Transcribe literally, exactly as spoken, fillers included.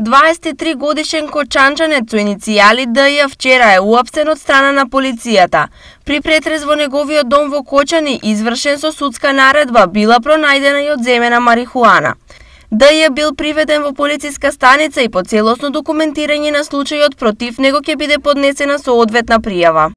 дваесет и три годишен кочанчанец со иницијали Д Ј вчера е уапсен од страна на полицијата. При претрез во неговиот дом во Кочани, извршен со судска наредба, била пронајдена и одземена марихуана. Д Ј бил приведен во полициска станица и по целосно документирање на случајот против него ќе биде поднесена соодветна пријава.